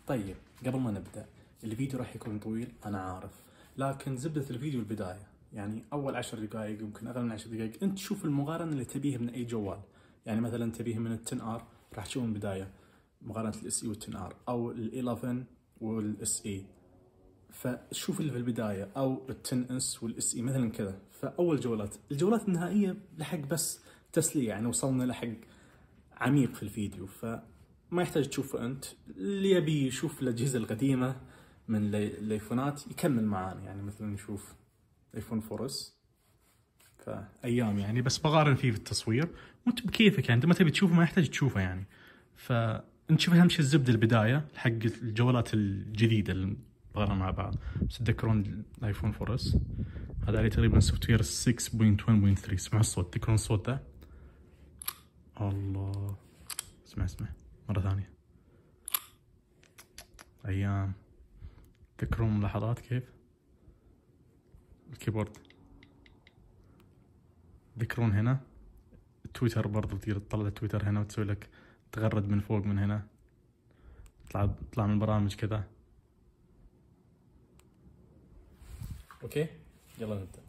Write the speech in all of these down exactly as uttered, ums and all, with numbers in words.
طيب قبل ما نبدأ، الفيديو راح يكون طويل أنا عارف، لكن زبدة الفيديو البداية، يعني أول عشر دقائق يمكن أقل من عشر دقائق أنت تشوف المقارنة اللي تبيها من أي جوال. يعني مثلا تبيها من التن آر راح تشوف من البداية مقارنة الاس اي والتن آر، أو الإلفن والاس اي، فشوف اللي في البداية، أو التن اس والاس اي مثلا كذا. فأول جولات، الجولات النهائية لحق بس تسلية، يعني وصلنا لحق عميق في الفيديو، فما يحتاج تشوفه أنت. اللي يبي يشوف الأجهزة القديمة من الايفونات يكمل معانا، يعني مثلا نشوف ايفون فور اس فايام، يعني بس بقارن فيه في التصوير وانت بكيفك، يعني انت ما تبي تشوفه ما يحتاج تشوفه يعني. فانت شوف اهم شيء الزبده البدايه حق الجوالات الجديده اللي بقارن مع بعض. بس تذكرون الايفون فور اس هذا عليه تقريبا سوفت وير ستة نقطة واحد نقطة ثلاثة. اسمعوا الصوت، تذكرون الصوت ده؟ الله، اسمع اسمع مره ثانيه. ايام، تذكرون ملاحظات كيف الكيبورد؟ تذكرون هنا تويتر برضو تقدر تطلع تويتر هنا وتسوي لك تغرد من فوق من هنا، تطلع تطلع من البرامج كذا. اوكي يلا نبدا.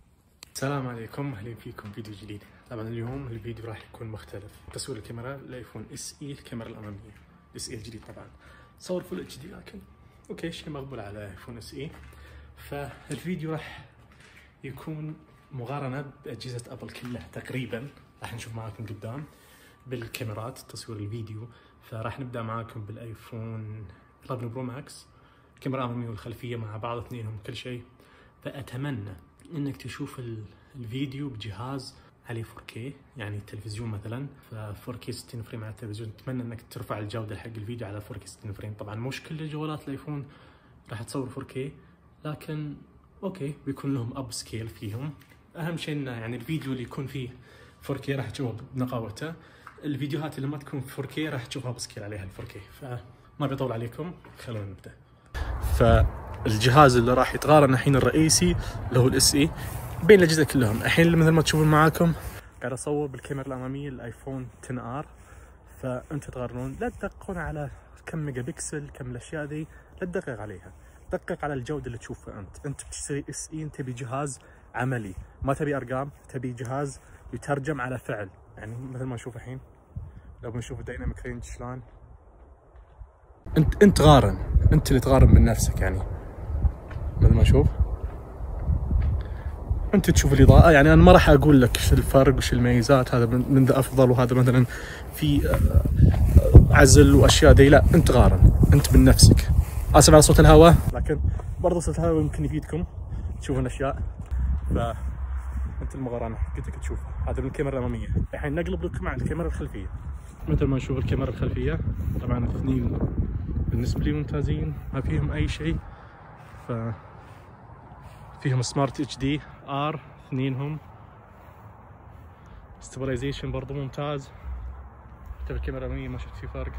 السلام عليكم، اهلا فيكم فيديو جديد. طبعا اليوم الفيديو راح يكون مختلف. تصوير الكاميرا الايفون اس اي، الكاميرا الاماميه اس اي الجديد طبعا صور فل اتش دي، لكن اوكي شيء مقبول على ايفون اس اي. فالفيديو راح يكون مقارنه باجهزه ابل كلها تقريبا، راح نشوف معاكم قدام بالكاميرات تصوير الفيديو. فراح نبدا معاكم بالايفون إحدى عشر برو ماكس، الكاميرا الاماميه والخلفيه مع بعض اثنينهم كل شيء. فاتمنى انك تشوف الفيديو بجهاز عليه فور كي، يعني التلفزيون مثلا ف فور كي ستين فريم على التلفزيون. اتمنى انك ترفع الجوده حق الفيديو على فور كي ستين فريم. طبعا مش كل جوالات الايفون راح تصور فور كي، لكن اوكي بيكون لهم اب سكيل فيهم. اهم شيء انه يعني الفيديو اللي يكون فيه فور كي راح تشوفه بنقاوته، الفيديوهات اللي ما تكون فور كي راح تشوفها بسكيل عليها فور كي. فما بيطول عليكم، خلونا نبدا. فالجهاز اللي راح يتقارن الحين الرئيسي اللي هو الاس اي بين الاجهزه كلهم. الحين مثل ما تشوفون معاكم قاعد اصور بالكاميرا الاماميه الايفون عشرة ار. فانتم تقارنون، لا تدققون على كم ميجا بكسل كم الاشياء ذي، لا تدقق عليها، دقق على الجوده اللي تشوفها انت. انت بتشتري اس اي، انت تبي جهاز عملي، ما تبي ارقام، تبي جهاز يترجم على فعل. يعني مثل ما نشوف الحين، لو بنشوف الدايناميك رينج شلون، انت انت قارن، انت اللي تقارن من نفسك. يعني مثل ما نشوف انت تشوف الاضاءه. يعني انا ما راح اقول لك ايش الفرق وش الميزات، هذا من ذا افضل وهذا مثلا في عزل واشياء دي، لا انت قارن انت من نفسك. اسف على صوت الهواء، لكن برضه صوت الهواء يمكن يفيدكم تشوفون اشياء. ف انت المقارنه حقتك تشوفها. هذا من الكاميرا الاماميه. الحين نقلب لكم على الكاميرا الخلفيه. مثل ما نشوف الكاميرا الخلفيه، طبعا الاثنين بالنسبه لي ممتازين، ما فيهم اي شيء. ف فيهم سمارت اتش دي ار اثنينهم، ستابلايزيشن برضو ممتاز. حتى الكاميرا الاماميه ما شفت في فرق،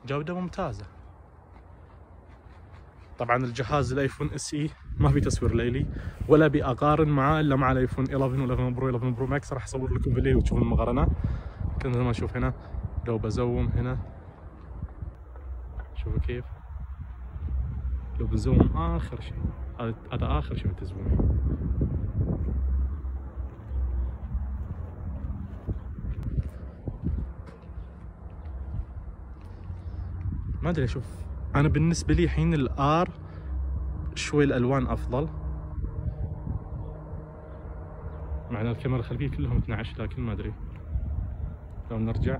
جوده ممتازه. طبعا الجهاز الايفون اس اي ما في تصوير ليلي، ولا ابي اقارن معاه الا مع الايفون إحدى عشر و11 برو إحدى عشر برو ماكس. راح اصور لكم بالليل وتشوفون المقارنه. كنت ما اشوف هنا، لو بزوم هنا شوفوا كيف، لو بزوم اخر شيء، هذا هذا اخر شيء بالتزويم. ما ادري، اشوف انا بالنسبه لي الحين الار شوي الالوان افضل، مع ان الكاميرا الخلفيه كلهم اثني عشر، لكن ما ادري. لو نرجع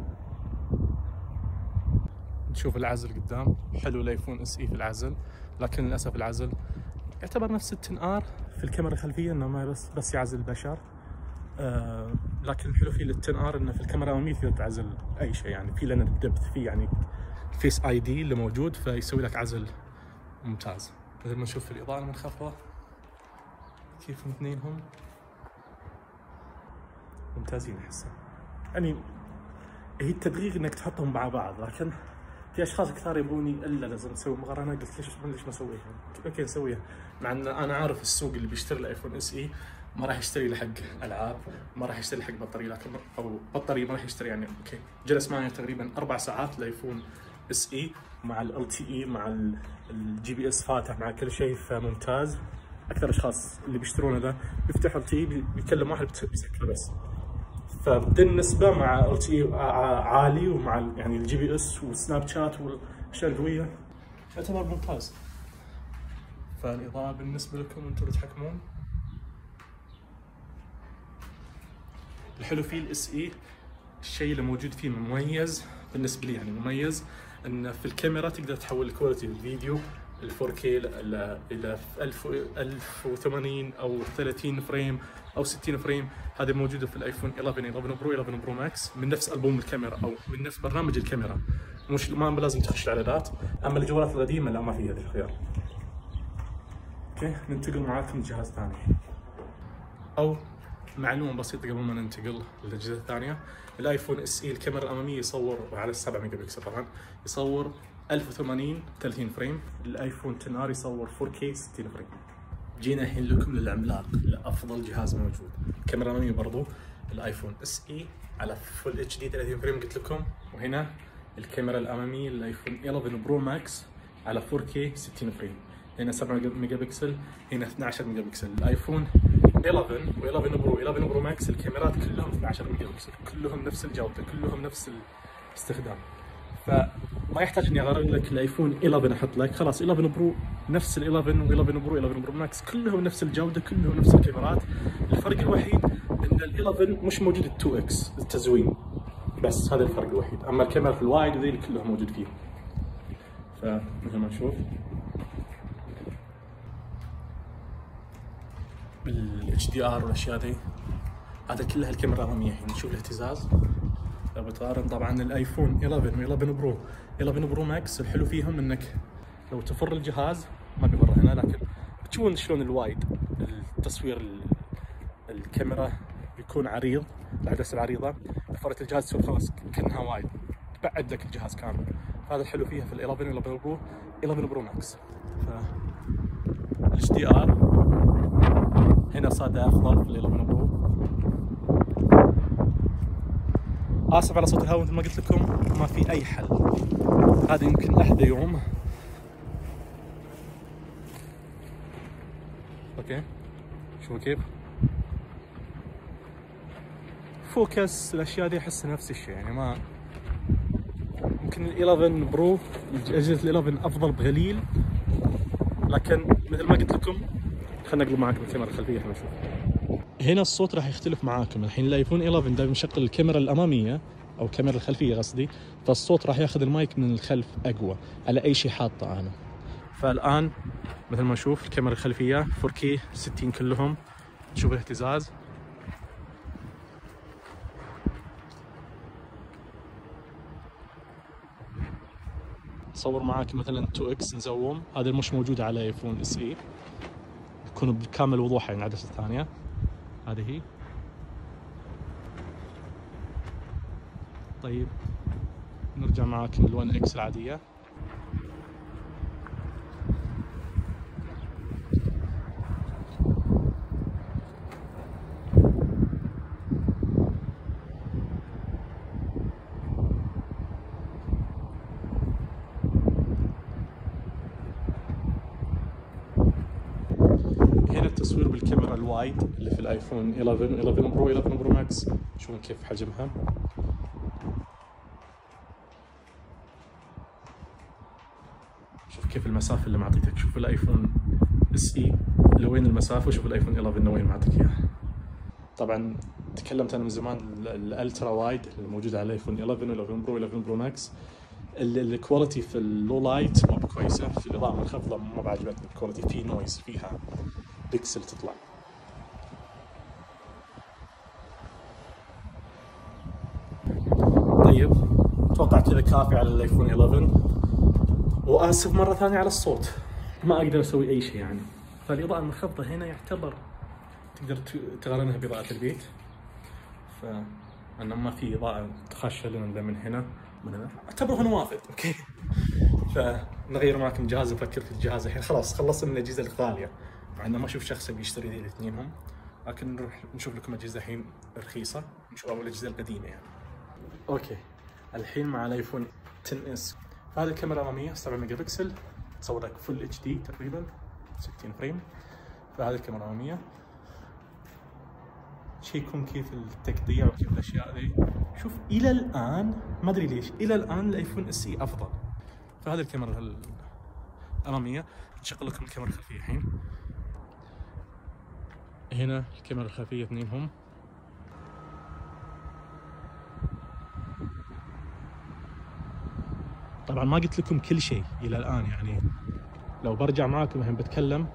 نشوف العزل قدام، حلو الايفون اس اي في العزل، لكن للاسف العزل يعتبر نفس التن ار في الكاميرا الخلفيه، انه ما بس بس يعزل البشر. آه لكن الحلو فيه للتن ار انه في الكاميرا الاماميه تقدر تعزل اي شيء، يعني في لنا الدبث فيه، يعني فيس اي دي اللي موجود، فيسوي لك عزل ممتاز. مثل ما نشوف في الاضاءه المنخفضه كيف اثنينهم ممتازين احسها. يعني هي التدقيق انك تحطهم مع بعض، لكن في اشخاص كثار يبوني الا لازم نسوي مقارنه. قلت ليش ليش ما اسويها؟ اوكي نسويها، مع ان انا عارف السوق اللي بيشتري الايفون اس اي ما راح يشتري له حق العاب، ما راح يشتري حق بطاريه، لكن او بطاريه ما راح يشتري يعني. اوكي جلس معي تقريبا اربع ساعات الايفون اس اي مع ال تي اي مع الجي بي اس فاتح مع كل شيء، فممتاز. اكثر اشخاص اللي بيشترونه ذا بيفتحوا ال تي اي بيكلم واحد بيسكره بس، فبالنسبه مع ال تي اي عالي، ومع يعني الجي بي اس والسناب شات والاشياء القويه يعتبر ممتاز. فالاضاءه بالنسبه لكم انتم اللي تحكمون. الحلو فيه الاس اي، الشيء اللي موجود فيه مميز بالنسبه لي يعني مميز، ان في الكاميرا تقدر تحول كواليتي الفيديو ال فور كي الى الى ألف وثمانين او ثلاثين فريم او ستين فريم. هذه موجوده في الايفون إحدى عشر إحدى عشر برو إحدى عشر برو ماكس من نفس البوم الكاميرا او من نفس برنامج الكاميرا، مش ما لازم تخش الاعدادات. اما الجوالات القديمه لا، ما في هذا الخيار. اوكي ننتقل معاكم لجهاز ثاني. او معلومه بسيطه قبل ما ننتقل للاجهزه الثانيه، الايفون اس اي الكاميرا الاماميه يصور على سبعة ميجا بكسل، طبعا يصور ألف وثمانين ثلاثين فريم. الايفون عشرة ار يصور فور كي ستين فريم. جينا الحين لكم للعملاق، لافضل جهاز موجود. الكاميرا الاماميه برضو الايفون اس اي على فول اتش دي ثلاثين فريم قلت لكم، وهنا الكاميرا الاماميه الايفون إحدى عشر برو ماكس على فور كي ستين فريم. هنا سبعة ميجا بكسل، هنا اثني عشر ميجا بكسل. الايفون إحدى عشر و11 برو إحدى عشر برو ماكس الكاميرات كلهم اثني عشر ميجا بكسل، كلهم نفس الجوده، كلهم نفس الاستخدام. فما يحتاج اني اغير لك الايفون إحدى عشر احط لك، خلاص إحدى عشر برو نفس ال إحدى عشر و11 برو إحدى عشر برو ماكس كلهم نفس الجوده، كلهم نفس الكاميرات. الفرق الوحيد ان ال إحدى عشر مش موجود ال تو اكس التزوين، بس هذا الفرق الوحيد. اما الكاميرا في الوايد وذي كلهم موجود فيه. فمثل ما نشوف بالاتش دي ار والاشياء ذي، هذا كلها الكاميرا الاماميه. الحين نشوف الاهتزاز. لو بتقارن طبعا الايفون إحدى عشر و11 برو إحدى عشر برو ماكس، الحلو فيهم انك لو تفر الجهاز ما بيفر هنا، لكن بتشوفون شلون الوايد التصوير الكاميرا بيكون عريض، العدسه العريضه، فرت الجهاز تصير خلاص كانها وايد، تبعد لك الجهاز كامل. هذا الحلو فيها في ال إحدى عشر و11 برو إحدى عشر برو ماكس. ف الاتش دي ار هنا صار افضل في ال إحدى عشر برو. اسف على صوت الهواء، مثل ما قلت لكم ما في اي حل. هذا يمكن احدى يوم. اوكي شوفوا كيف فوكس الاشياء دي، احس نفس الشيء يعني. ما يمكن ال إحدى عشر برو اجهزه ال إحدى عشر افضل بقليل، لكن مثل ما قلت لكم خلينا نقلب معاكم الكاميرا الخلفيه احنا نشوف. هنا الصوت راح يختلف معاكم. الحين الايفون إحدى عشر دائما يشغل الكاميرا الاماميه او الكاميرا الخلفيه قصدي، فالصوت راح ياخذ المايك من الخلف اقوى على اي شيء حاطه انا. فالان مثل ما نشوف الكاميرا الخلفيه فور كي ستين كلهم، تشوف الاهتزاز. صور معاك مثلا تو اكس نزوم، هذا مش موجود على ايفون اس اي، يكون بكامل وضوح يعني العدسه الثانيه. هذه هي. طيب نرجع معاك لل ون اكس العاديه. هنا التصوير بالكاميرا الوايد اللي في الايفون إحدى عشر إحدى عشر برو إحدى عشر برو ماكس، شوفون كيف حجمها. شوف كيف المسافه اللي معطيتك. شوف الايفون اس اي لوين المسافه، وشوف الايفون إحدى عشر وين معطيك اياها. طبعا تكلمت انا من زمان الالترا وايد اللي موجود على الايفون إحدى عشر إحدى عشر برو إحدى عشر برو ماكس، الكواليتي في اللو لايت ما كويسه، في الاضاءه منخفضه ما بعجبتني الكواليتي، في نويز، فيها بيكسل تطلع. طيب اتوقع كذا كافي على الايفون إحدى عشر، واسف مره ثانيه على الصوت، ما اقدر اسوي اي شيء يعني. فالاضاءه المنخفضه هنا يعتبر تقدر تقارنها باضاءه البيت، فانه ما في اضاءه تخش لنا من هنا من هنا، اعتبره نوافذ. اوكي فنغير معكم جهاز، نفكر في الجهاز الحين. خلاص خلصنا من الاجهزه الغاليه، مع انه ما اشوف شخص بيشتري ذي الاثنينهم، لكن نروح نشوف لكم اجهزه الحين رخيصه، نشوف اول الاجهزه القديمه يعني. اوكي الحين مع الايفون عشرة اس. هذه الكاميرا الاماميه سبعة ميجا بكسل، تصور لك فل اتش دي تقريبا ستين فريم. فهذه الكاميرا الاماميه. شيكون كيف التقطيع وكيف الاشياء ذي. شوف الى الان ما ادري ليش الى الان الايفون اس اي افضل. فهذه الكاميرا الاماميه. نشغل لكم الكاميرا الخلفيه الحين. هنا الكاميرا الخلفيه اثنينهم. طبعا ما قلت لكم كل شيء الى الان، يعني لو برجع معاكم الحين بتكلم.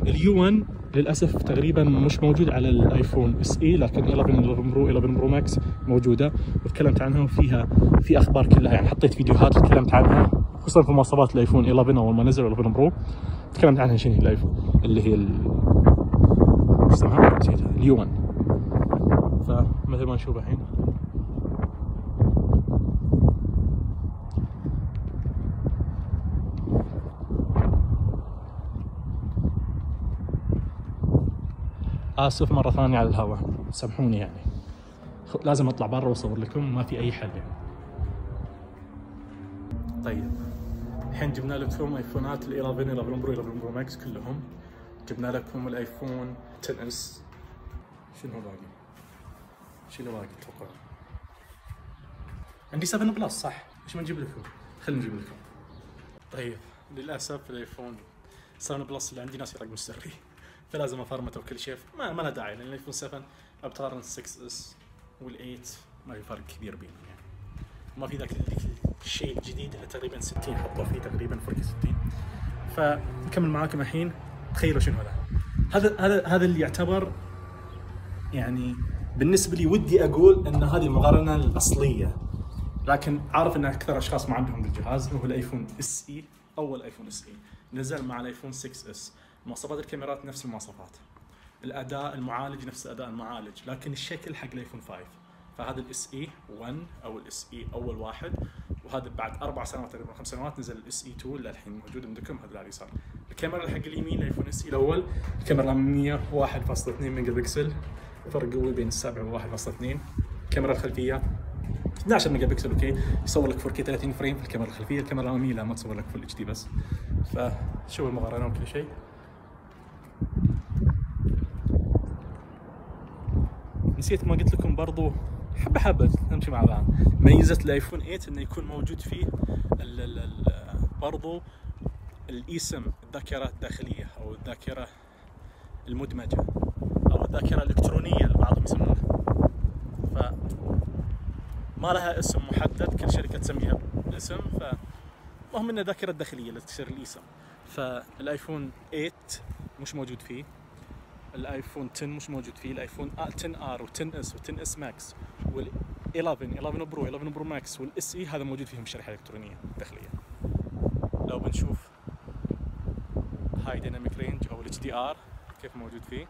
اليو واحد للاسف تقريبا مش موجود على الايفون اس اي، لكن إحدى عشر برو إحدى عشر برو ماكس موجوده وتكلمت عنها وفيها في اخبار كلها، يعني حطيت فيديوهات تكلمت عنها خصوصا في مواصفات الايفون إحدى عشر اول ما نزل إحدى عشر برو تكلمت عنها. شنو هي الايفون اللي هي ال... اسمها نسيتها اليو واحد. فمثل ما نشوف الحين آسف مرة ثانية على الهواء، سامحوني يعني لازم أطلع برا وأصور لكم، ما في أي حل يعني. طيب الحين جبنا لكم ايفونات ال إحدى عشر إحدى عشر برو إحدى عشر برو ماكس كلهم. جبنا لكم الايفون عشرة اس. شنو باقي؟ شو اللي باقي تتوقع؟ عندي سبعة بلس صح؟ ايش ما نجيب لكم؟ خلينا نجيب لكم. طيب للأسف الايفون سبعة بلس اللي عندي ناسي رقم السري، فلازم افرمته وكل شيء. ما ما له داعي لان الايفون سبعة بتقارن ستة اس وال8 ما في فرق كبير بينهم يعني. ما في ذاك الشيء الجديد اللي تقريبا ستين حطوا فيه تقريبا فرق ستين. فنكمل معاكم الحين. تخيلوا شنو هذا. هذا هذا هذا اللي يعتبر يعني بالنسبه لي ودي اقول ان هذه المقارنه الاصليه، لكن عارف ان اكثر اشخاص ما عندهم الجهاز. هو الايفون اس اي، اول ايفون اس اي نزل مع الايفون ستة اس. مواصفات الكاميرات نفس المواصفات، الاداء المعالج نفس اداء المعالج، لكن الشكل حق الايفون خمسة. فهذا الاس اي واحد او الاس اي اول واحد، وهذا بعد اربع سنوات تقريبا خمس سنوات نزل الاس اي اثنين اللي الحين موجود عندكم. هذا على اليسار. الكاميرا حق اليمين الايفون اس اي الاول، الكاميرا الاماميه واحد فاصلة اثنين ميجا بكسل، فرق قوي بين السبعة وواحد فاصلة اثنين. الكاميرا الخلفيه اثني عشر ميجا بكسل، اوكي يصور لك فور كي ثلاثين فريم في الكاميرا الخلفيه. الكاميرا الاماميه لا ما تصور لك فل اتش دي بس. فشوف المقارنه وكل شيء. نسيت ما قلت لكم برضو حبه حبه نمشي مع بعض. ميزه الايفون ثمانية انه يكون موجود فيه ال ال ال برضو الايسم، الذاكره الداخليه او الذاكره المدمجه او الذاكره الالكترونيه اللي بعضهم يسمونها. ف ما لها اسم محدد، كل شركه تسميها باسم. فمهم انه الذاكره الداخليه اللي تصير الايسم. فالايفون ثمانية مش موجود فيه، الايفون عشرة مش موجود فيه، الايفون عشرة ار و10 اس و10 اس ماكس وال11 11 برو إحدى عشر برو ماكس والاس اي هذا موجود فيهم الشريحه الالكترونيه الداخليه. لو بنشوف هاي ديناميك رينج او الاتش دي ار كيف موجود فيه.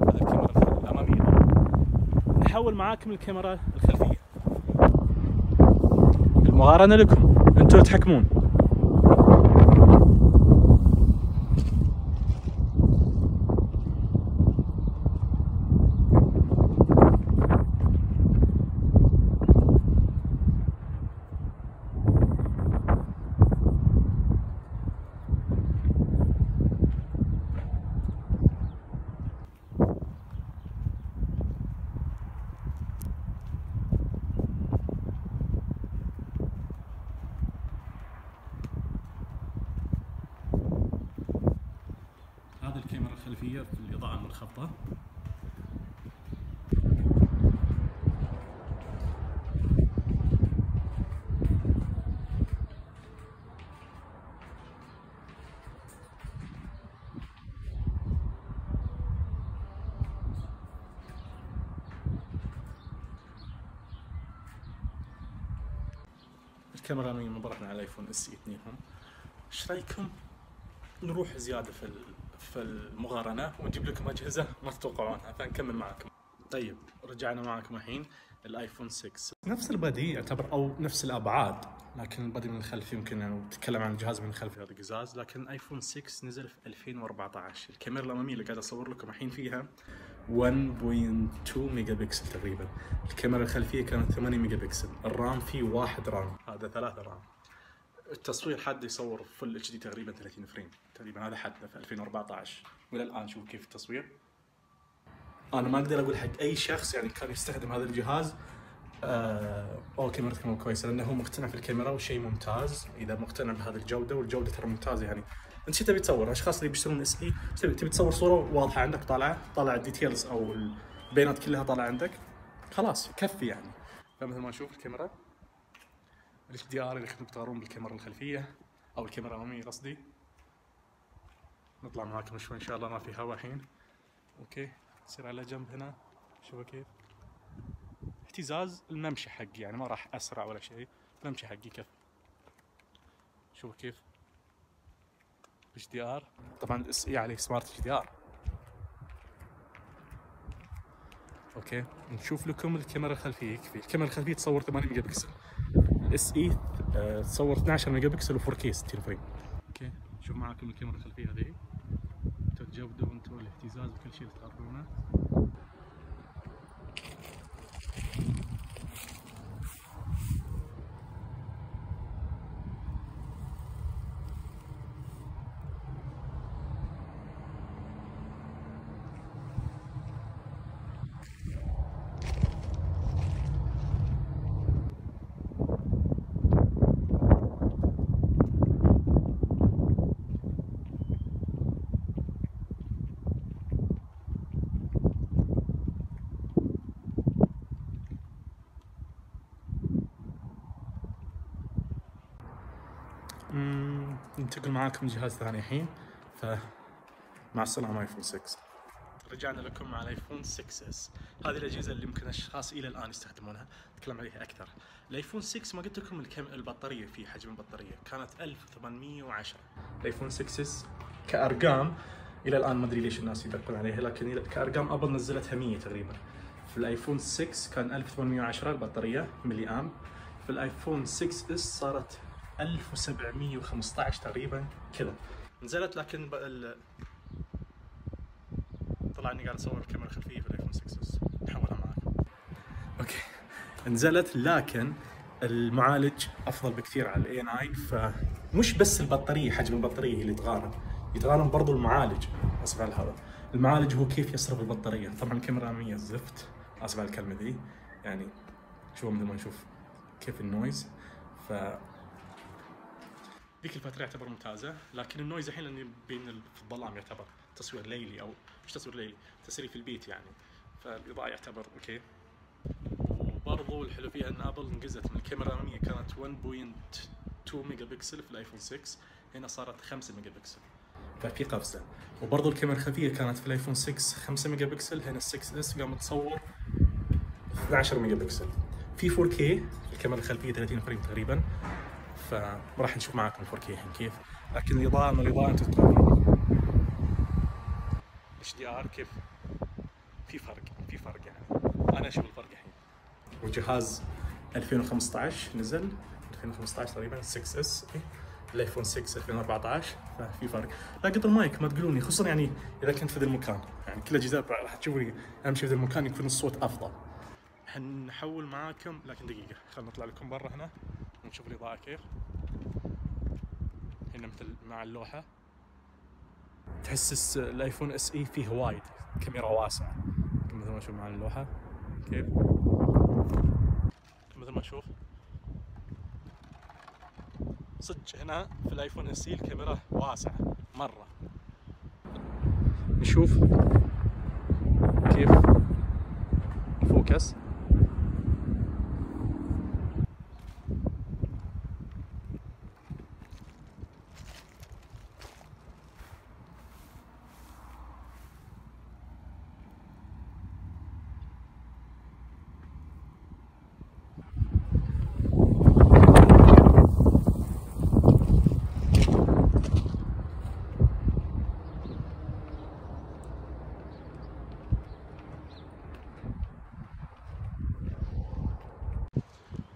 هذا الكاميرا الاماميه. نحول معاكم الكاميرا الخلفيه. المقارنه لكم انتم تحكمون. الكاميرا الخلفية في الإضاءة المنخفضة. الكاميرا الأمامية مبرهنة على الايفون اس اي اثنينهم. ايش رايكم نروح زيادة في في المقارنة ونجيب لكم أجهزة ما تتوقعونها، فنكمل معكم. طيب رجعنا معكم الحين الايفون ستة، نفس البديهة يعتبر او نفس الابعاد، لكن البادي من الخلف يمكن يعني تتكلم عن الجهاز من الخلف هذا قزاز. لكن الايفون ستة نزل في ألفين وأربعة عشر. الكاميرا الاماميه اللي قاعد اصور لكم الحين فيها واحد فاصلة اثنين ميجا بكسل تقريبا. الكاميرا الخلفيه كانت ثمانية ميجا بكسل. الرام فيه واحد رام، هذا ثلاثة رام. التصوير حد يصور فل اتش دي تقريبا ثلاثين فريم تقريبا، هذا حده في ألفين وأربعة عشر. والى الان شوف كيف التصوير. انا ما اقدر اقول حق اي شخص يعني كان يستخدم هذا الجهاز آه او كاميرته مو كويسه، لانه هو مقتنع في الكاميرا وشيء ممتاز. اذا مقتنع بهذه الجوده، والجوده ترى ممتازه يعني. انت شو تبي تصور؟ اشخاص اللي بيشترون اس اي تبي تبي تصور صوره واضحه عندك طالعه، طالع الديتيلز او البيانات كلها طالعه عندك، خلاص يكفي يعني. فمثل ما نشوف الكاميرا الاتش دي ار، اذا كنتم تقارنون بالكاميرا الخلفيه او الكاميرا الاماميه قصدي. نطلع معاكم شوي ان شاء الله، ما في هوا الحين. اوكي نصير على جنب هنا، شوفوا كيف اهتزاز الممشى حقي، يعني ما راح اسرع ولا شيء، الممشى حقي كيف. شوفوا كيف اتش دي ار، طبعا الاس اي عليه سمارت اتش دي ار. اوكي نشوف لكم الكاميرا الخلفيه. يكفي الكاميرا الخلفيه تصور ثمانية ميجا بكسل، الاس اي أه تصور اثني عشر ميجا بكسل و4 كي ستين فريم. اوكي شوف معاكم الكاميرا الخلفيه هذه، انتوا الجوده وانتوا الاهتزاز وكل شيء اللي تقررونه. ننتقل معاكم لجهاز ثاني الحين. فمع السلامة ايفون ستة. رجعنا لكم مع الايفون ستة اس. هذه الاجهزه اللي يمكن اشخاص الى الان يستخدمونها، نتكلم عليها اكثر. الايفون ستة ما قلت لكم الكم البطاريه فيه، حجم البطاريه كانت ألف وثمانمية وعشرة. الايفون ستة اس كارقام الى الان ما ادري ليش الناس يدقون عليها، لكن كارقام ابل نزلتها مية تقريبا. في الايفون ستة كان ألف وثمانمية وعشرة البطاريه ملي ام. في الايفون ستة اس صارت ألف وسبعمية وخمسة عشر تقريبا كذا نزلت. لكن ال... طلع اني قاعد اصور الكاميرا الخلفيه في الايفون ستة اس، نحولها معاكم. اوكي نزلت، لكن المعالج افضل بكثير على الاي تسعة. فمش بس البطاريه، حجم البطاريه اللي يتغارم، يتغارم برضو المعالج. اسف على هذا، المعالج هو كيف يصرف البطاريه. طبعا الكاميرا الاماميه زفت، اسف على الكلمه ذي يعني. شوفوا مثل ما نشوف كيف النويز. ف ذيك الفترة يعتبر ممتازة، لكن النويز الحين لاني بين في الظلام يعتبر تصوير ليلي، او مش تصوير ليلي، تسري في البيت يعني، فالاضاءة يعتبر اوكي. وبرضو الحلو فيها ان ابل انقزت من الكاميرا الامامية كانت واحد فاصلة اثنين ميجا بكسل في الايفون ستة، هنا صارت خمسة ميجا بكسل، ففي قفزة. وبرضو الكاميرا الخلفية كانت في الايفون ستة خمسة ميجا بكسل، هنا ال ستة اس قام تصور اثني عشر ميجا بكسل. في فور كي الكاميرا الخلفية ثلاثين فريم تقريبا، فراح نشوف معاكم فور كي الحين كيف. لكن الاضاءه من الاضاءه انتم تقارنون اتش دي ار كيف في فرق، في فرق يعني. انا اشوف الفرق الحين. وجهاز ألفين وخمسة عشر نزل، ألفين وخمسة عشر تقريبا ستة اس، الايفون ستة ألفين وأربعة عشر، ففي فرق. لا قطر مايك ما تقولوني، خصوصا يعني اذا كنت في ذا المكان، يعني كل الاجهزه راح تشوفوني امشي في ذا المكان يكون الصوت افضل. حنحول معاكم، لكن دقيقه خلينا نطلع لكم برا هنا ونشوف الاضاءه كيف. هنا مثل مع اللوحة، تحس الايفون اس اي فيه وايد كاميرا واسعة مثل ما نشوف مع اللوحة كيف. مثل ما نشوف صدق هنا في الايفون اس اي الكاميرا واسعة مرة. نشوف كيف الفوكس.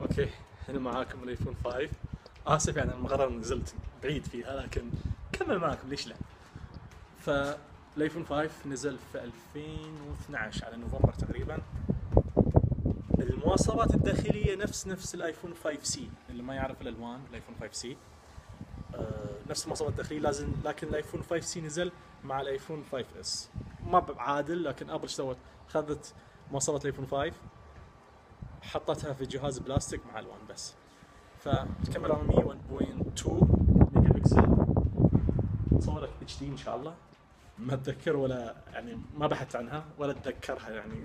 اوكي هنا معاكم الايفون خمسة. اسف يعني المغرب نزلت بعيد فيها، لكن كمل معكم ليش لا. فالايفون خمسة نزل في ألفين واثناشر على نوفمبر تقريبا. المواصفات الداخليه نفس نفس الايفون خمسة سي، اللي ما يعرف الالوان الايفون خمسة سي آه نفس المواصفات الداخليه لازم، لكن الايفون خمسة سي نزل مع الايفون خمسة اس. ما بعادل، لكن ابل سوت اخذت مواصفات الايفون خمسة حطتها في جهاز بلاستيك مع الوان بس. فالكاميرا الاماميه واحد فاصلة اثنين ميجا بكسل، تصور لك اتش دي ان شاء الله. ما اتذكر ولا يعني ما بحثت عنها ولا اتذكرها يعني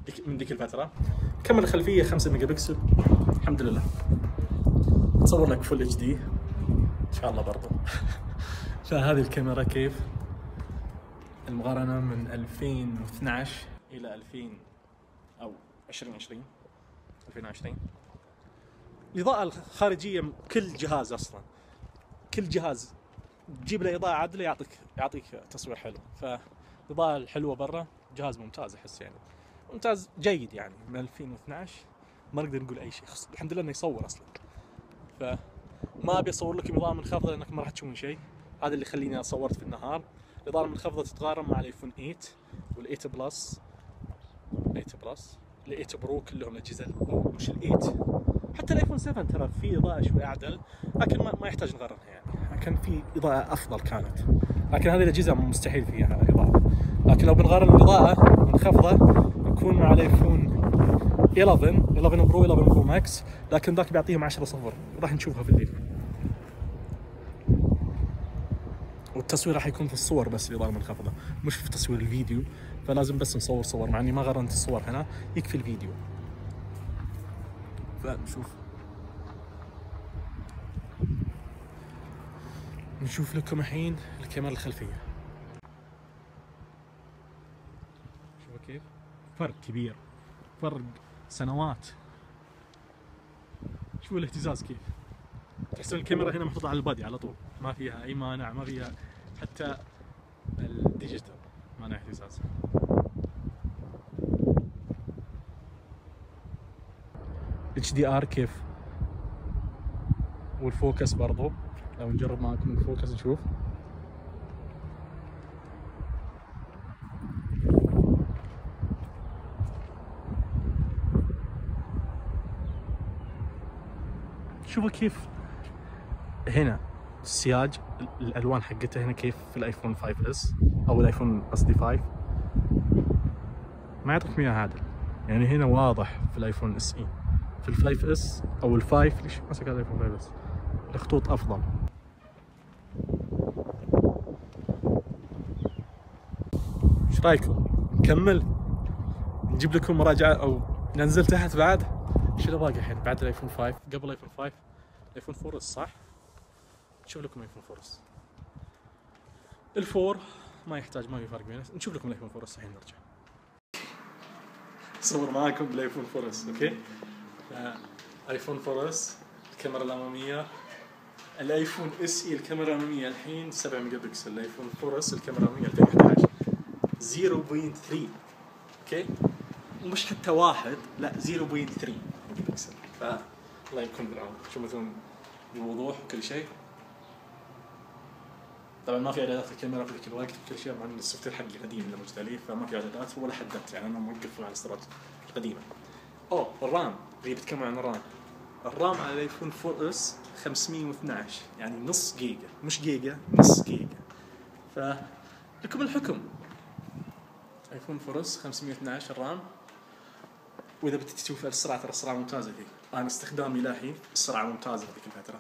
ديك من ذيك الفتره. الكاميرا الخلفيه خمسة ميجا بكسل الحمد لله، تصور لك فول اتش دي ان شاء الله برضه. فهذه الكاميرا كيف المقارنه من ألفين واثناشر الى ألفين او ألفين وعشرين ألفين وعشرين. الإضاءة الخارجية كل جهاز أصلا كل جهاز تجيب له إضاءة عادلة يعطيك يعطيك تصوير حلو. فالإضاءة الحلوة برا جهاز ممتاز، أحس يعني ممتاز جيد يعني. من ألفين واثناشر ما نقدر نقول أي شيء، الحمد لله إنه يصور أصلا. فما أبي أصور لكم إضاءة منخفضة لأنك ما راح تشوفون شيء، هذا اللي يخليني صورت في النهار. الإضاءة المنخفضة تتقارن مع الآيفون ثمانية والثمانية بلس ثمانية بلس الثمانية برو، كلهم الأجهزة مش الثمانية. حتى الايفون سبعة ترى في اضاءه شوي اعدل، لكن ما, ما يحتاج نقارنها يعني، كان في اضاءه افضل كانت. لكن هذه الاجهزه مستحيل فيها اضاءه. لكن لو بنقارن الاضاءه منخفضه يكون مع الايفون إحدى عشر إحدى عشر برو إحدى عشر برو ماكس، لكن ذاك بيعطيهم عشرة صفر، راح نشوفها في الليل. والتصوير راح يكون في الصور بس الاضاءه منخفضه، مش في تصوير الفيديو. فلازم بس نصور صور، مع اني ما قارنت الصور هنا، يكفي الفيديو. فنشوف نشوف لكم الحين الكاميرا الخلفية. شوفوا كيف فرق كبير، فرق سنوات. شوفوا الاهتزاز كيف، تحسون الكاميرا هنا محطوطة على البادي على طول، ما فيها أي مانع، ما فيها حتى الديجيتال مانع اهتزاز. اتش دي ار كيف، والفوكس برضو لو نجرب معكم الفوكس نشوف. شوفوا كيف هنا السياج، الالوان حقتها هنا كيف في الايفون خمسة اس او الايفون قصدي خمسة، ما يعطيكم اياها عادل يعني. هنا واضح في الايفون اس اي، في الخمسة اس او الخمسة ليش ماسك هذا الايفون خمسة اس الخطوط افضل. ايش رايكم نكمل نجيب لكم مراجعه او ننزل تحت بعد؟ ايش اللي باقي الحين بعد الايفون خمسة؟ قبل الايفون خمسة الايفون أربعة اس صح؟ نشوف لكم الايفون أربعة اس. الفور ما يحتاج، ما في فرق بينه. نشوف لكم الايفون أربعة اس الحين نرجع. صور معاكم بالايفون أربعة اس اوكي. ايفون أربعة اس الكاميرا الاماميه، الايفون اس اي الكاميرا الاماميه الحين سبعة ميجا بكسل، الايفون أربعة اس الكاميرا الاماميه ألفين وأحد عشر صفر فاصلة ثلاثة اوكي، مش حتى واحد، لا صفر فاصلة ثلاثة ميجا بكسل. ف الله يكون بالعون، شوفوا الوضوح وكل شيء. طبعا ما في اعدادات الكاميرا في ذيك الوقت وكل شيء، مع ان السوفت وير حقي قديم اللي موجود عليه، فما في اعدادات ولا حددت يعني، انا موقف على الاصدارات القديمه. اوه الرام اللي بتكلم عن الرام، الرام على الايفون أربعة اس خمسمية واثناشر يعني نص جيجا، مش جيجا نص جيجا. فلكم الحكم، ايفون أربعة اس خمسمية واثناشر رام. واذا بدك تشوف السرعه، ترى السرعه ممتازه فيه، انا استخدامي للحين السرعه ممتازه في ذيك الفتره.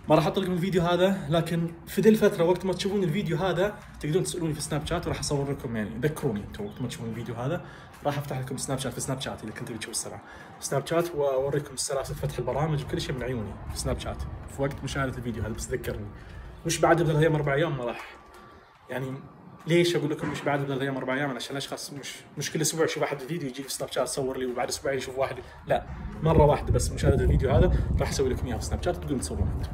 ما راح احط لكم الفيديو هذا، لكن في ذي الفتره وقت ما تشوفون الفيديو هذا تقدرون تسالوني في سناب شات، وراح اصور لكم يعني ذكروني انتم وقت ما تشوفون الفيديو هذا، راح افتح لكم سناب شات في سناب شات اذا كنتوا بتشوفوا السرعه سناب شات، واوريكم سلاسه فتح البرامج وكل شيء من عيوني في سناب شات في وقت مشاهده الفيديو هذا. بس ذكرني مش بعد بثلاث ايام اربع ايام، ما راح يعني. ليش اقول لكم مش بعد بثلاث ايام اربع ايام؟ عشان الاشخاص مش مش كل اسبوع يشوف واحد الفيديو يجي في سناب شات صور لي، وبعد اسبوعين يشوف واحد، لا مره واحده بس مشاهده الفيديو هذا راح اسوي لكم اياه في سناب شات تقدرون تصورون انتم.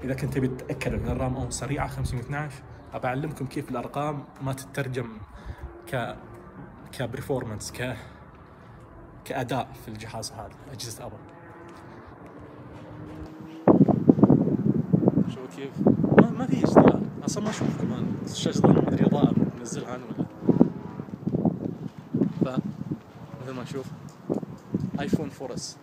اذا كنت تبي تتاكد ان الرام او سريعه خمسمية واثناشر، ابى اعلمكم كيف الارقام ما تترجم ك كبرفورمانس ك كاداء في الجهاز هذا اجهزه ابل. شوفوا كيف ما, ما في اشتغال اصلا، ما اشوف كمان الشاشه ما ادري اضاءه منزلها انا ولا. ف مثل ما نشوف ايفون فور اس.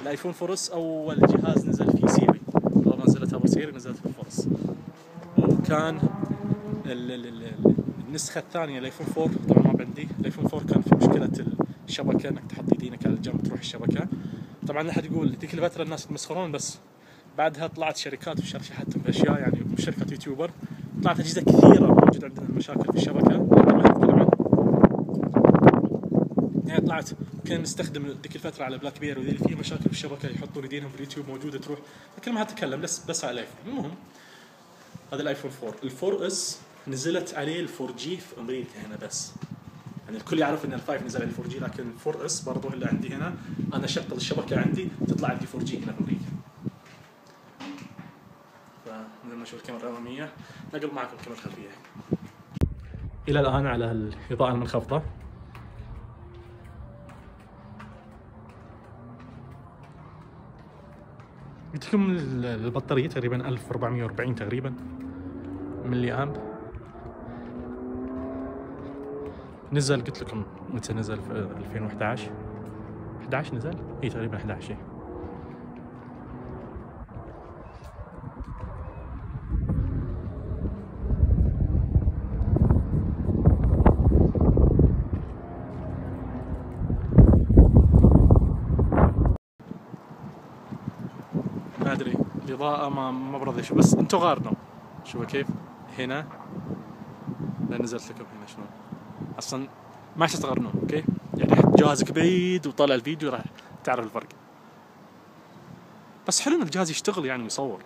الايفون فور اس اول جهاز نزل فيه سيري، اول ما نزلت ابو سيري نزلت في الفور اس، وكان ال ال ال النسخه الثانيه الايفون فور طبعا ما عندي. الايفون فور كان في مشكله الشبكه، انك تحط يدينك على الجنب تروح الشبكه. طبعا لا احد يقول ذيك الفتره الناس يتمسخرون، بس بعدها طلعت شركات وشرحتهم باشياء، يعني شركه يوتيوبر طلعت اجهزه كثيره موجود عندنا مشاكل في الشبكه يعني. طلعت كنا نستخدم ذيك الفتره على بلاك بير وذي فيه مشاكل في الشبكه، يحطون يدينهم في اليوتيوب موجوده تروح، لكن ما هتكلم بس بس على الايفون. المهم هذا الايفون فور. الفور اس نزلت عليه الفور جي في امريكا هنا بس، يعني الكل يعرف ان الفايف نزل عليه فور جي، لكن الفور اس برضه اللي عندي هنا انا شغل الشبكه عندي تطلع عندي فور جي هنا في امريكا. فمثل ما نشوف الكاميرا الاماميه، نقل معكم الكاميرا الخلفيه. الى الان على الاضاءه المنخفضه قلت لكم البطاريه تقريبا ألف وأربعمية وأربعين تقريبا ملي امب. نزل قلت لكم متى نزل؟ في ألفين وأحد عشر أحد عشر نزل، اي تقريبا أحد عشر. ما ادري الاضاءة ما ما برضي شو، بس انتم غارنوا شوفوا كيف هنا. لا نزلت لكم هنا شلون اصلا ما تستغربون. اوكي يعني جهازك بعيد وطالع الفيديو راح تعرف الفرق، بس حلو ان الجهاز يشتغل يعني ويصور.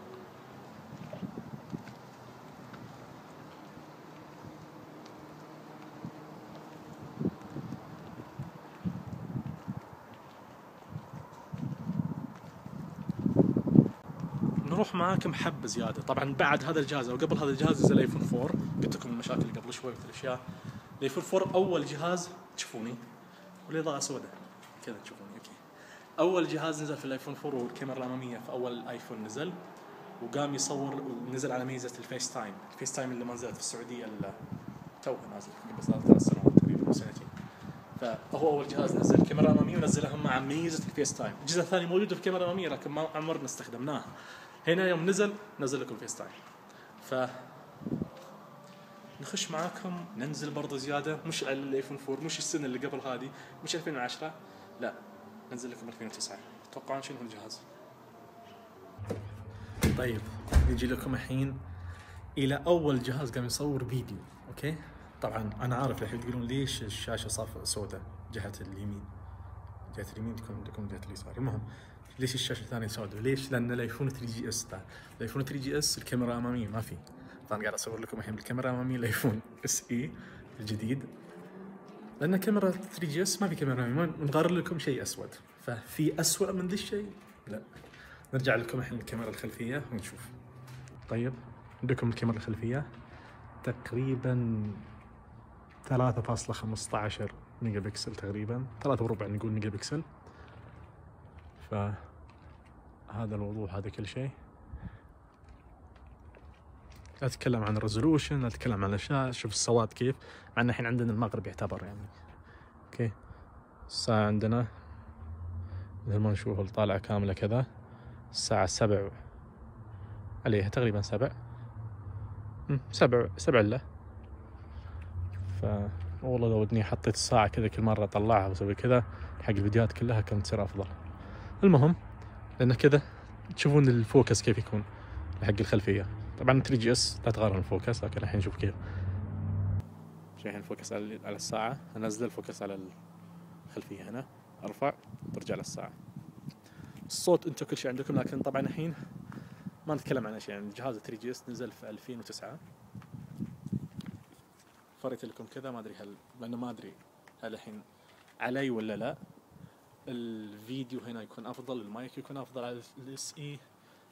نروح معاكم حبة زيادة. طبعا بعد هذا الجهاز او قبل هذا الجهاز نزل الايفون فور، قلت لكم المشاكل اللي قبل شوي والاشياء. الايفون فور اول جهاز تشوفوني والاضاءة سوداء كذا تشوفوني. اوكي اول جهاز نزل في الايفون فور والكاميرا الامامية في اول ايفون نزل، وقام يصور ونزل على ميزة الفيس تايم. الفيس تايم اللي ما نزلت في السعودية الا توها نازل قبل ثلاث سنوات تقريبا او سنتين. فهو اول جهاز نزل كاميرا اماميه ونزلها مع ميزه الفيس تايم. الجزء الثاني موجود في الكاميرا الاماميه لكن ما عمرنا استخدمناها. هنا يوم نزل نزل لكم الفيس تايم. ف نخش معاكم ننزل برضه زياده، مش على الايفون فور، مش السنه اللي قبل هذه، مش ألفين وعشرة، لا ننزل لكم ألفين وتسعة. تتوقعون شنو الجهاز؟ طيب نجي لكم الحين الى اول جهاز قام يصور فيديو. اوكي طبعا انا عارف الحين تقولون ليش الشاشه صافيه سوداء جهه اليمين، جهه اليمين تكون عندكم جهه اليسار. المهم ليش الشاشه الثانيه سوداء؟ ليش؟ لان الايفون ثري جي اس ده. الايفون ثري جي اس الكاميرا الاماميه ما في، فانا قاعد اصور لكم الحين بالكاميرا الاماميه الايفون اس اي الجديد، لان كاميرا ثري جي اس ما في كاميرا اماميه. نقارن لكم شيء اسود، ففي اسوء من ذا الشيء؟ لا. نرجع لكم الحين الكاميرا الخلفيه ونشوف. طيب عندكم الكاميرا الخلفيه تقريبا ثلاثة فاصلة خمسة عشر ميجا بكسل، تقريبا ثلاثة وربع نقول ميجا بكسل. فهذا الوضوح، هذا كل شيء. لا اتكلم عن الريزولوشن، لا اتكلم عن الاشياء. شوف السواد كيف، مع ان الحين عندنا المغرب يعتبر يعني. اوكي الساعة عندنا مثل ما نشوف الطالعة كاملة كذا، الساعة سبع عليها تقريبا سبع سبع سبع الا. ف والله لو ودني حطيت الساعة كذا كل مرة اطلعها واسوي كذا حق الفيديوهات كلها كانت تصير افضل. المهم لان كذا تشوفون الفوكس كيف يكون حق الخلفية. طبعا ثري جي اس لا تقارن الفوكس، لكن الحين نشوف كيف. الحين الفوكس على على الساعة، انزل الفوكس على الخلفية هنا، ارفع ترجع للساعة. الصوت انتم كل شيء عندكم، لكن طبعا الحين ما نتكلم عن شيء. يعني الجهاز ثري جي اس نزل في ألفين وتسعة، فريت لكم كذا ما ادري هل، لانه ما ادري هل الحين علي ولا لا. الفيديو هنا يكون افضل، المايك يكون افضل على الاس اي.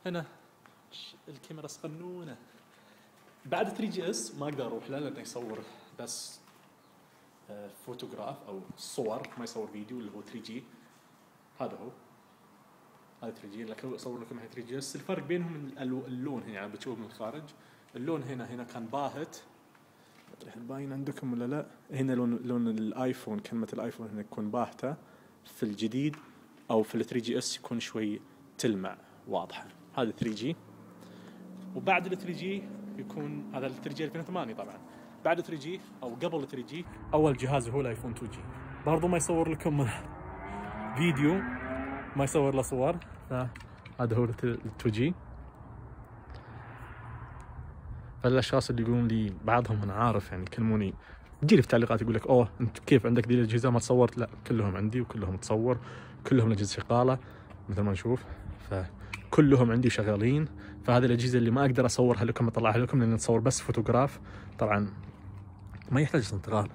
هنا الكاميرا صغنونه. بعد ثري جي اس ما اقدر اروح له لانه يصور بس فوتوغراف او صور، ما يصور فيديو اللي هو ثري جي. هذا هو هذا ثري جي. لكن اصور لكم الحين ثري جي اس. الفرق بينهم اللون هنا يعني بتشوف من الخارج اللون هنا هنا كان باهت، باين عندكم ولا لا؟ هنا لون لون الايفون، كلمة الايفون هنا تكون باهتة، في الجديد او في ال ثري جي اس يكون شوي تلمع واضحة. هذا ثري جي. وبعد ال ثري جي يكون هذا ال ثري جي ألفين وثمانية طبعا. بعد ثري جي او قبل ثري جي اول جهاز هو الايفون تو جي، برضو ما يصور لكم فيديو، ما يصور له صور. هذا هو ال تو جي. فالاشخاص اللي يقولون لي بعضهم انا عارف يعني يكلموني تجي لي في تعليقات يقول لك اوه انت كيف عندك ذي الاجهزه ما تصورت؟ لا كلهم عندي وكلهم تصور، كلهم الاجهزه شغاله مثل ما نشوف، فكلهم عندي شغالين. فهذه الاجهزه اللي ما اقدر اصورها لكم اطلعها لكم لان نصور بس فوتوغراف طبعا ما يحتاج انتقال.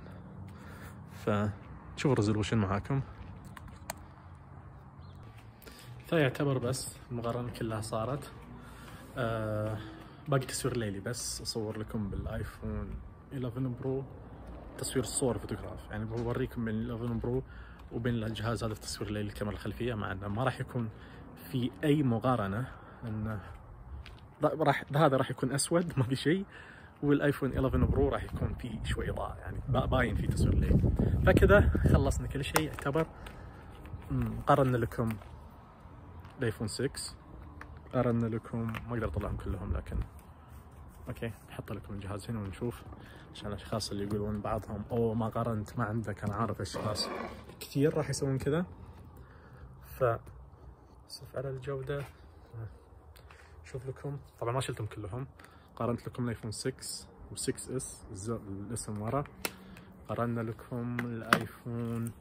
فشوفوا الريزولوشن معاكم. فيعتبر بس المقارنه كلها صارت. آه باقي تصوير ليلي بس اصور لكم بالايفون إليفن برو تصوير الصور فوتوغراف، يعني بوريكم بين الإليفن برو وبين الجهاز هذا التصوير الليلي الكاميرا الخلفيه، مع انه ما راح يكون في اي مقارنه، لان راح هذا راح يكون اسود ما في شيء، والايفون إليفن برو راح يكون فيه شوي اضاءه يعني باين في تصوير ليلي. فكذا خلصنا كل شيء يعتبر. قارنا لكم الايفون ستة، قارنا لكم ما اقدر اطلعهم كلهم لكن اوكي نحط لكم الجهاز هنا ونشوف عشان الاشخاص اللي يقولون بعضهم اوه ما قارنت ما عندك. انا عارف اشخاص كثير راح يسوون كذا. ف اسف على الجوده. شوف لكم طبعا ما شلتهم كلهم، قارنت لكم الايفون ستة و6 اس الاسم ورا، قارنا لكم الايفون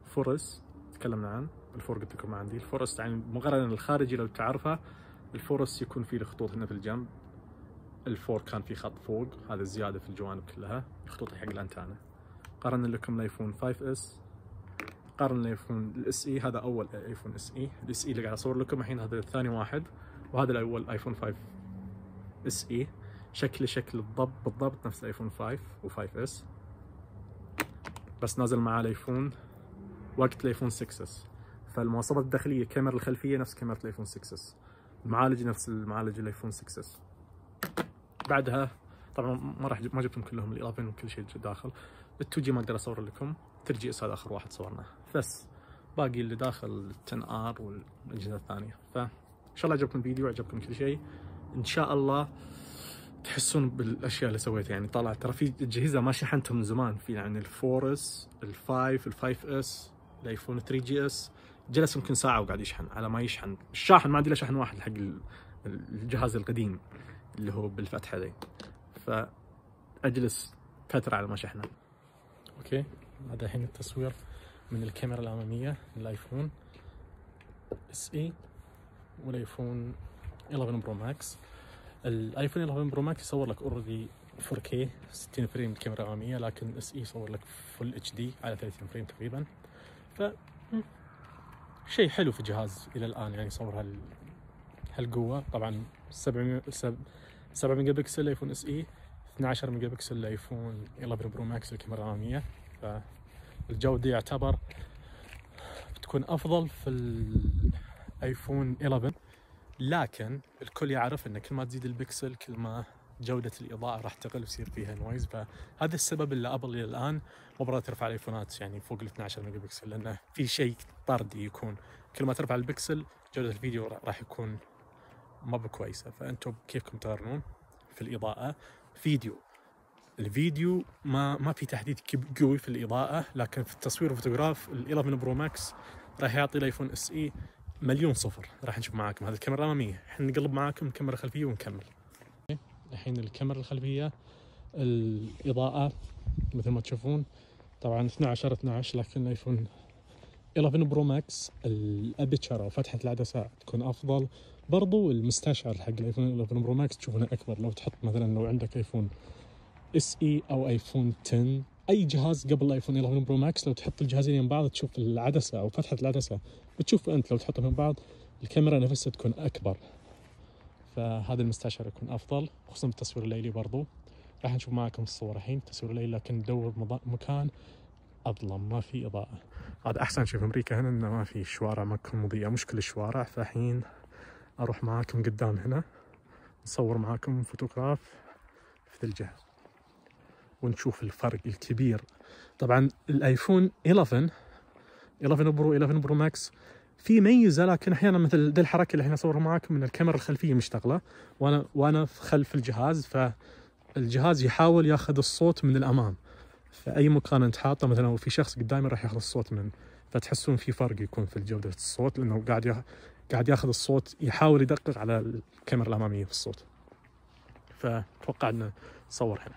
فور اس تكلمنا عنه، الفور قلت لكم ما عندي. الفورس يعني مقارنة الخارجي لو تعرفه، الفورس يكون فيه الخطوط هنا في الجنب، الفور كان في خط فوق، هذا الزيادة في الجوانب كلها خطوط حق الانتانة. قارنا لكم الايفون فايف اس، قارنا الايفون الاس اي، هذا اول ايفون اس اي، الاس اي اللي قاعد اصور لكم الحين هذا الثاني واحد، وهذا الاول ايفون فايف اس اي، شكله شكل بالضبط بالضبط نفس الايفون فايف وفايف اس، بس نازل معاه الايفون وقت الايفون ستة اس. فالمواصفات الداخليه الكاميرا الخلفيه نفس كاميرا الايفون ستة اس، المعالج نفس المعالج الايفون ستة اس. بعدها طبعا ما راح ما جبتهم كلهم الإليفن وكل شيء داخل. التو جي ما اقدر اصور لكم، ثري جي اس هذا اخر واحد صورناه، بس باقي اللي داخل عشرة ار والاجهزه الثانيه. فان شاء الله عجبكم الفيديو، عجبكم كل شيء، ان شاء الله تحسون بالاشياء اللي سويتها. يعني طلع ترى في اجهزه ما شحنتهم من زمان، في يعني الفور اس، الفايف، الفايف اس، الايفون ثري جي اس، جلس يمكن ساعه وقاعد يشحن على ما يشحن. الشاحن ما عندي الا شحن واحد حق الجهاز القديم اللي هو بالفتحه ذي، فاجلس فتره على ما شحنه. اوكي هذا الحين التصوير من الكاميرا الاماميه للايفون اس اي والايفون إليفن برو ماكس. الايفون إليفن برو ماكس يصور لك اوريدي فور كي ستين فريم الكاميرا الاماميه، لكن الاس اي يصور لك فل اتش دي على ثلاثين فريم تقريبا. ف شيء حلو في الجهاز الى الان، يعني يصور هال هالقوه. طبعا سبعمية سبعة ميجا بكسل ايفون اس اي، اثني عشر ميجا بكسل الايفون إليفن برو ماكس الكاميرا الاماميه. فالجوده يعتبر بتكون افضل في الايفون إليفن، لكن الكل يعرف ان كل ما تزيد البكسل كل ما جودة الإضاءة راح تقل ويصير فيها نويز. فهذا السبب اللي أبل إلى الآن مو برا ترفع الآيفونات يعني فوق ال اثني عشر ميجا بكسل، لأنه في شيء طردي يكون كل ما ترفع البكسل جودة الفيديو راح يكون ما بكويسة. فأنتم كيفكم تقارنون في الإضاءة؟ فيديو الفيديو ما ما في تحديد قوي في الإضاءة، لكن في التصوير وفوتوغراف الإليفن برو ماكس راح يعطي الآيفون اس اي مليون صفر. راح نشوف معاكم هذه الكاميرا الأمامية، احنا نقلب معاكم الكاميرا الخلفية ونكمل. الحين الكاميرا الخلفية الإضاءة مثل ما تشوفون طبعا اثني عشر اثني عشر، لكن الايفون إليفن برو ماكس الابيتشر او فتحة العدسة تكون افضل. برضو المستشعر حق الايفون إليفن برو ماكس تشوفونه اكبر. لو تحط مثلا لو عندك ايفون اس اي او ايفون عشرة، اي جهاز قبل الايفون إليفن برو ماكس لو تحط الجهازين يم بعض تشوف العدسة او فتحة العدسة بتشوف انت لو تحطهم يم بعض الكاميرا نفسها تكون اكبر. فهذا المستشعر يكون افضل، خصوصا بالتصوير الليلي. برضو راح نشوف معاكم الصور الحين تصوير الليلي، لكن ندور مكان أظلم، ما في إضاءة. هذا أحسن شيء في أمريكا هنا، إنه ما في شوارع ما تكون مضيئة، مش كل الشوارع. فالحين أروح معاكم قدام هنا نصور معاكم فوتوغراف في الجهة ونشوف الفرق الكبير. طبعا الآيفون إحدى عشر برو إحدى عشر برو ماكس في ميزة، لكن أحيانا مثل دي الحركة اللي احنا نصورها معاكم من الكاميرا الخلفية مشتغلة وأنا وأنا خلف الجهاز، فالجهاز يحاول ياخذ الصوت من الأمام. فأي مكان أنت حاطه مثلا أو في شخص قدامي راح ياخذ الصوت من، فتحسون في فرق يكون في جودة الصوت، لأنه قاعد يا... قاعد ياخذ الصوت، يحاول يدقق على الكاميرا الأمامية في الصوت. فتوقع أن نصور هنا.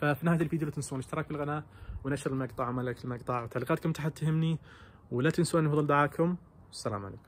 ففي نهاية الفيديو لا تنسون الاشتراك بالقناة ونشر المقطع وما لايك المقطع، وتعليقاتكم تحت تهمني، ولا تنسون فضل دعاكم. السلام عليكم.